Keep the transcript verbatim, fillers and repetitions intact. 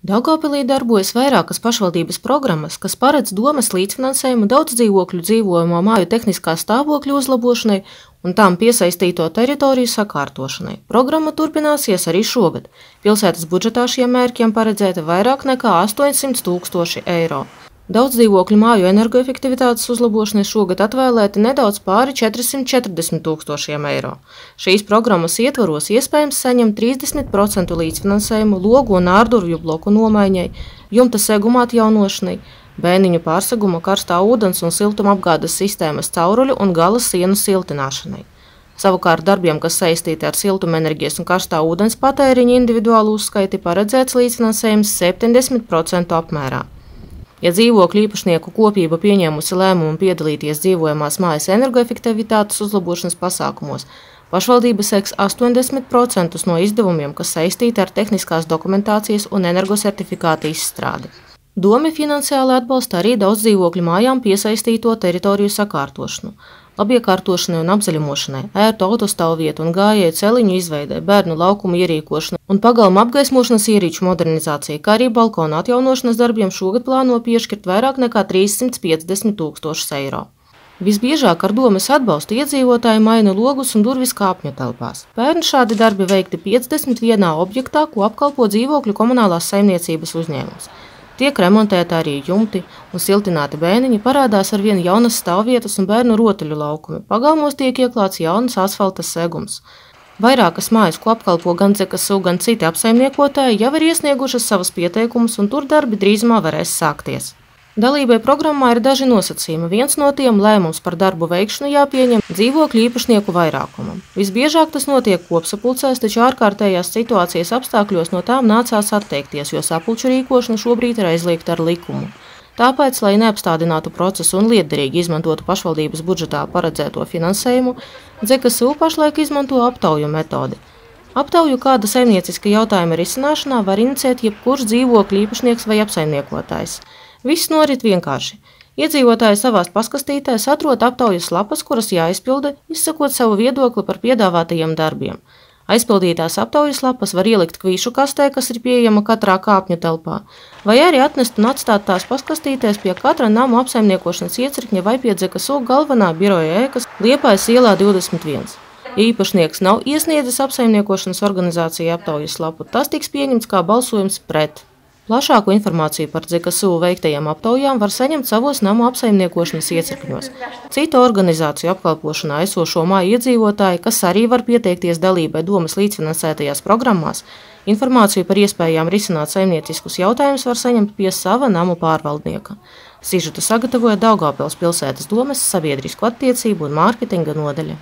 Daugavpilī darbojas vairākas pašvaldības programmas, kas paredz domes līdzfinansējumu daudzdzīvokļu dzīvojamo māju tehniskā stāvokļa uzlabošanai un tām piesaistīto teritoriju sakārtošanai. Programma turpināsies arī šogad. Pilsētas budžetā šiem mērķiem paredzēta vairāk nekā astoņsimt tūkstoši eiro. Daudzdzīvokļu māju energoefektivitātes uzlabošanai šogad atvēlēti nedaudz pāri četrsimt četrdesmit tūkstošiem eiro. Šīs programmas ietvaros iespējams saņemt trīsdesmit procentu līdzfinansējumu logu un ārdurvju bloku nomaiņai, jumta seguma atjaunošanai, bēniņu pārseguma, karstā ūdens un siltumapgādes sistēmas cauruļu un gala sienu siltināšanai. Savukārt darbiem, kas saistīti ar siltumenerģijas un karstā ūdens patēriņa individuālu uzskaiti, paredzēts līdzfinansējums septiņdesmit procentu apmērā. Ja dzīvokļu īpašnieku kopība pieņēmusi lēmumu piedalīties dzīvojamās mājas energoefektivitātes uzlabošanas pasākumos, pašvaldība seks astoņdesmit procentus no izdevumiem, kas saistīti ar tehniskās dokumentācijas un energosertifikāta izstrādi. Dome finansiāli atbalsta arī daudzdzīvokļu mājām piesaistīto teritoriju sakārtošanu, labiekārtošanai un apzaļumošanai, ērtu autostāvvietu un gājēju celiņu izveidē, bērnu laukumu ierīkošanai un pagalma apgaismošanas ierīču modernizācijai, kā arī balkona atjaunošanas darbiem šogad plāno piešķirt vairāk nekā trīssimt piecdesmit tūkstošus eiro. Visbiežāk ar domes atbalstu iedzīvotāji maina logus un durvis kāpņu telpās. Pērn šādi darbi veikti piecdesmit vienā objektā, ko apkalpo dzīvokļu komunālās saimniecības uzņēmums. Tiek remontēti arī jumti un siltināti bēniņi, parādās arvien jaunas stāvvietas un bērnu rotaļu laukumi. Pagalmos tiek ieklāts jaunas asfalta segums. Vairākas mājas, ko apkalpo gan Dzekasu, gan citi apsaimniekotāji, jau ir iesniegušas savas pieteikumus, un tur darbi drīzumā varēs sākties. Dalībai programmā ir daži nosacījumi. Viens no tiem lēmums par darbu veikšanu jāpieņem dzīvokļu īpašnieku vairākumam. Visbiežāk tas notiek kopsapulcēs, taču ārkārtējās situācijas apstākļos no tām nācās atteikties, jo sapulču rīkošana šobrīd ir aizliegta ar likumu. Tāpēc, lai neapstādinātu procesu un lietderīgi izmantotu pašvaldības budžetā paredzēto finansējumu, Dzekasu pašlaik izmanto aptauju metodi. Aptauju kāda saimnieciska jautājuma risināšanā var inicēt jebkurš dzīvokļu īpašnieks vai apsaimniekotājs. Viss norit vienkārši. Iedzīvotāji savās paskastītēs atrod aptaujas lapas, kuras jāizpilda, izsakot savu viedokli par piedāvātajiem darbiem. Aizpildītās aptaujas lapas var ielikt kvīšu kastē, kas ir pieejama katrā kāpņu telpā, vai arī atnest un atstāt tās paskastītēs pie katra namu apsaimniekošanas iecirkņa vai pie Dzekasu galvenā biroja ēkas Liepājas ielā divdesmit viens. Ja īpašnieks nav iesniedzis apsaimniekošanas organizācija aptaujas lapu, tas tiks pieņemts kā balsojums pret. Plašāku informāciju par Dzekasu veiktajām aptaujām var saņemt savos namu apsaimniekošanas iecirkņos. Citu organizāciju apkalpošanā esošo māju iedzīvotāji, kas arī var pieteikties dalībai domes līdzfinansētajās programmās, informāciju par iespējām risināt saimnieciskus jautājumus var saņemt pie sava namu pārvaldnieka. Sižetu sagatavoja Daugavpils pilsētas domes sabiedrisko attiecību un mārketinga nodaļa.